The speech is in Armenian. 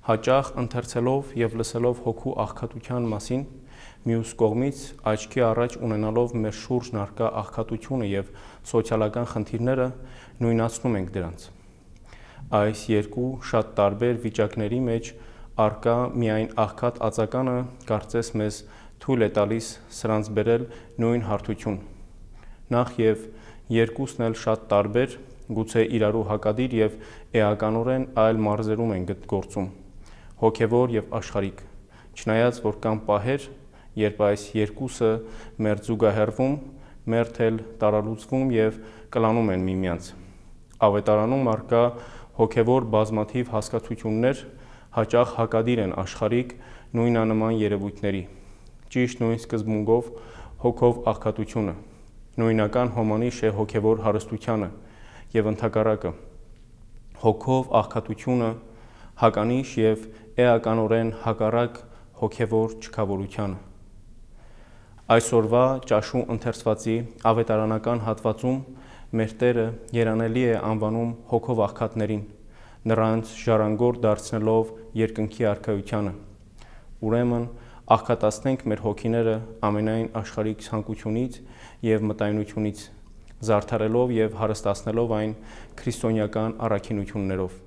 հաճախ ընթերցելով և լսելով հոգու աղքատության մասին, մյուս կողմից աչքի առաջ ունենալով մեր շուրջն առկա աղքատությունը և սոցիալական խնդիրները, նույնացնում ենք դրանց։ Այս երկու շատ տարբեր վիճակների մեջ առկա միայն աղքատ ածականը կարծես մեզ թույլ է տալիս սրանց բերել նույն հարթություն։ Նախ և երկուսն էլ շատ տարբեր, գուցե իրարու հակադիր և էականորեն այլ մարզերում են գործում՝ հոգևոր և աշխարհիկ, չնայած որ կան պահեր, երբ այս երկուսը մերձ զուգահեռվում, մերթ էլ տարալուծվում և կլանում են միմյանց։ Ավետարանում առկա հոգևոր բազմաթիվ հասկացություններ հաճախ հակադիր են աշխարհիկ նույնանման երևույթների, ճիշտ նույն սկզբունքով հոգով աղքատությունը, նույնական հոմանիշ է հոգևոր հարստությանը և ընդհակառակը, հոգով աղքատությունը հականիշ և էականորեն հակառակ հոգևոր չքավորությանը։ Այսօրվա ճաշու ընթերցվածի ավետարանական հատվածում մեր Տերը երանելի է անվանում հոգով աղքատներին, նրանց ժառանգորդ դարձնելով երկնքի արքայությանը։ Ուրեմն աղքատացնենք մեր հոգիները ամենայն աշխարհիկ ցանկությունից և մտայնությունից, զարդարելով և հարստացնելով այն քրիստոնեական առաքինություններով։